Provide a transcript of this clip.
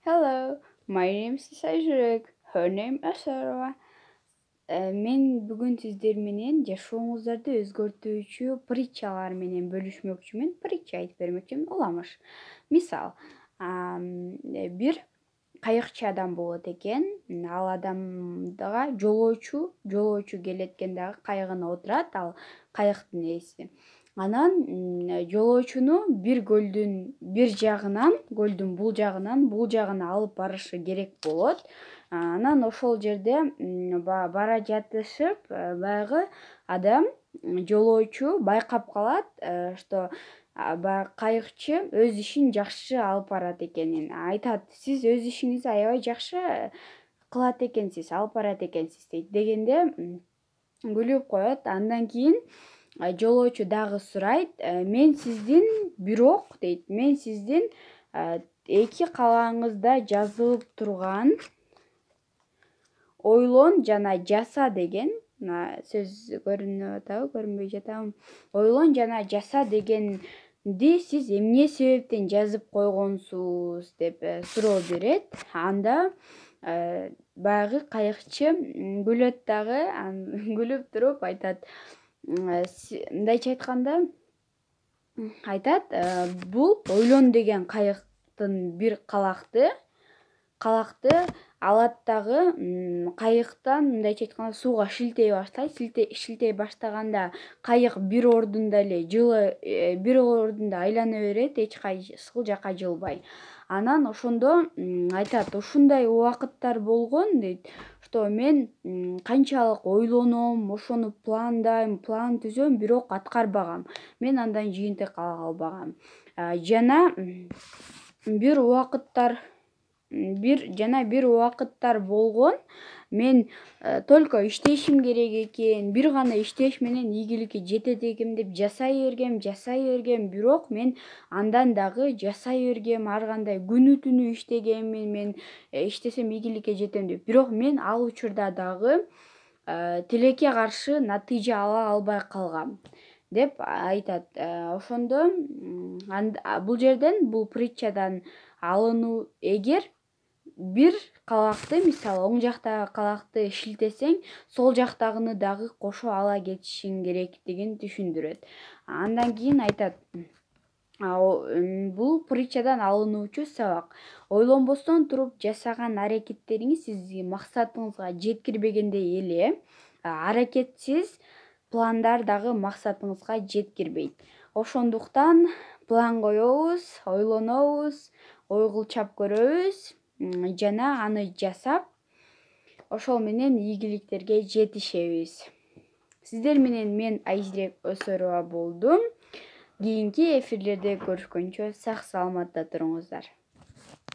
Hello, my name is Сайжүрек. Her name Asarова. Мен бүгүн сиздер менен жашооңуздарды өзгөртүүчү притчалар менен бөлүшмөкчүмүн. Притча айтып бермекчимин. Уламыш. Мисал, бир кайыкчы адам болот экен. Ал адамга жолоочу келет экен дагы кайыгына отурат, ал кайыктын ээси. Анан жолоочуну бир көлдүн бул жагына алып барышы керек болот. Анан ошол жерде бара жатышып, баягы адам жолоочу байкап калат, что баягы кайыкчы өз ишин жакшы алып барат экенин. Айтат: "Сиз өз ишиңизди аябай жакшы кылат экенсиз, алып барат экенсиз" дейт. Дегенде күлүп коет. Андан кийин жолоочу дагы сурайт: "Мен сиздин дейт, мен сиздин эки калааңызда жазылып турган ойлон жана жаса" деген сөз көрүнүп атабы, көрүнбөй жатабы? Ойлон жана жаса дегенди сиз эмне себептен жазып койгонсуз деп суроо берет. Анда баягы кайыкчы күлөт дагы, күлүп туруп айтат, мындайча айтканда айтат: "Бул ойлон деген кайыктын бир калакты алат дагы кайыктан мындайча айтканда сууга шилтей баштайт. Шилтей баштаганда кайык бир ордунда айлана берет, эч кайсыл жака жылбай. Анан ошондо айтат: ушундай убакыттар болгон" дейт, "что мен канчалык ойлоном, ошону пландайм, план түзөм, бирок аткарбагам. Мен андан жыйынтык ала албагам. Жана бир убакыттар болгон, мен только иштешим керек экен, бир гана иштеш менен ийгиликке жетет экенм деп жасай бергем, бирок мен андан дагы жасай бергем, ар кандай күнү түнү иштегеммин, мен иштесем ийгиликке жетем деп, бирок мен ал учурда дагы тилекке каршы натыйжа ала албай калгам" деп айтат. Ошондо бул жерден, бул притчадан алынуу: эгер бир калакты, мисалы, оң жактагы калакты шилтесең, сол жактагыны дагы кошо ала кетишиң керектигин түшүндүрөт. Андан кийин айтат: бул притчадан алынуучу сабак: ойлонбостон туруп жасаган аракеттериңиз сизди максатыңызга жеткирбегендей эле, аракетсиз пландар дагы максатыңызга жеткирбейт. Ошондуктан план коебуз, ойлонобуз, ой кылчап көрөбүз жана аны жасап, ошол менен ийгиликтерге жетишебиз. Сиздер менен мен Айжирек Өсөрова болдум. Кийинки эфирлерде көрүшкөнчө сак саламатта туруңуздар.